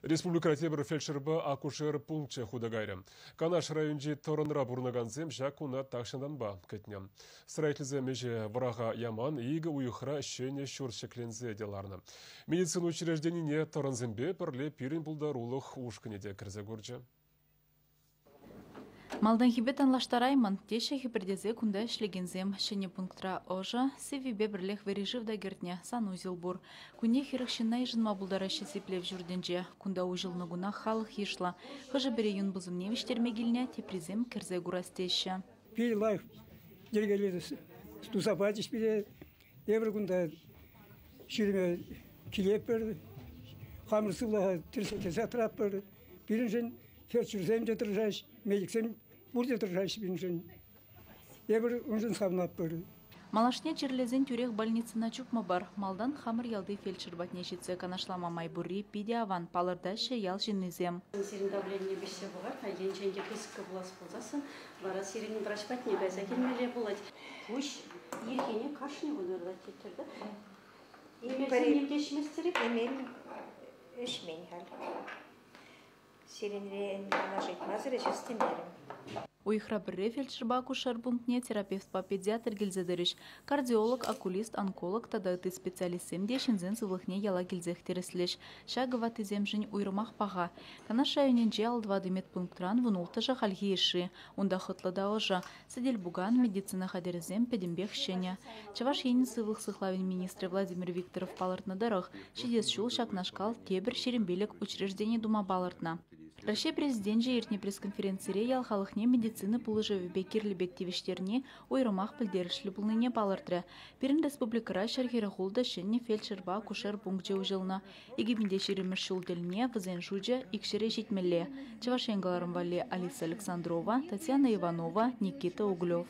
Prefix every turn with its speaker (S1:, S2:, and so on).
S1: Республикӑра тепӗр фельдшерпа акушер пункчӗ хута кайрӗ. Канаш районӗнчи Тӑрӑнра пурӑнакансем ҫак куна тахҫантанпа кӗтнӗ. Строительсем ӗҫе вӑраха яман, икӗ уйӑхра ҫӗнӗ ҫурт ҫӗкленсе те ларнӑ. Медицина учрежденине тӑрӑнсемпе пӗрле пирӗн пултарулӑх ушкӑнӗ те кӗрсе курчӗ.
S2: Малтанхипе танлаштараймӑн, теҫҫӗ хӗпӗртесе кунта ӗҫлекенсем. Ҫӗнӗ пунктра ӑшӑ, сиввипе пӗрлех вӗри шыв та кӗртнӗ, санузел пур. Кунне 40 ҫынна йышӑнма пултараҫҫӗ сиплев ҫуртӗнче. Кунта уҫӑлнӑ кунах халӑх йышлӑ. Хӑшӗ-пӗри юн пусӑмне вӗҫтерме килнӗ, теприсем кӗрсе курас теҫҫӗ.
S3: Питӗ лайӑх йӗркелесе туса пачӗҫ пире. Эпир кунта ҫӳреме килетпӗр, хамӑр сывлӑха тӗрӗслеттерсе тӑратпӑр. Пирӗншӗн фельдшерсем те тӑрӑшаҫҫӗ, медиксем пурте тӑрӑшаҫҫӗ пирӗншӗн. Эпир уншӑн савӑнатпӑр.
S2: Малашне чирлесен тӳрех больницӑна чупмӑпӑр. Малтан хамӑр ялти фельдшер патне ҫитсе канашлама май пурри питӗ аван, палӑртаҫҫӗ ял ҫыннисем.
S4: Сирӗн давлени виҫсе пӑхать-ха, енчен те пысӑккӑ пулас пулсассӑн вара сирӗн врач патне кайса килмелле пулать. Пуҫ ирхине кашни кун ырлать теттӗр да. Эмелсем ним те ӗҫместӗр-и?
S5: Эмел ӗҫмен халь. Сирӗнрен канаш ыйтмасӑр ӗҫес темерӗм.
S2: Уйӑхра пӗрре фельдшерпа акушер пунктне терапевтпа педиатр килсе тӑрӗҫ. Кардиолог, окулист, онколог тата ытти специалистсем те ҫынсен сывлӑхне яла килсех тӗрӗслӗҫ. Ҫакӑ ваттисемшӗн уйрӑмах паха. Канаш районӗнчи 54 медпунктран 16-шӗ хальхи йышши. Унта хӑтлӑ та ӑшӑ. Сӗтел-пукан, медицина хатӗрӗсем пӗтӗмпех ҫӗнӗ. Чӑваш Енӗн сывлӑх сыхлавӗн министрӗ Владимир Викторов палӑртнӑ тӑрӑх, ҫитес ҫул ҫакнашкал тепӗр 25 учреждени тума палӑртнӑ. Раҫҫей Президенчӗ иртнӗ пресс-конференцире ял халӑхне медицина пулӑшӑвӗпе кирлӗ пек тивӗҫтерни уйрӑмах пӗлтерӗшлӗ пулнине палӑртрӗ. Пирӗн республикӑра 146 ҫӗнӗ фельдшерпа акушер пункчӗ уҫӑлнӑ. 2020-мӗш ҫул тӗлне вӗсен шучӗ икҫӗре ҫитмелле. Чӑваш Ен кӑларӑм валли Алиса Александрова, Татьяна Иванова, Никита Углев.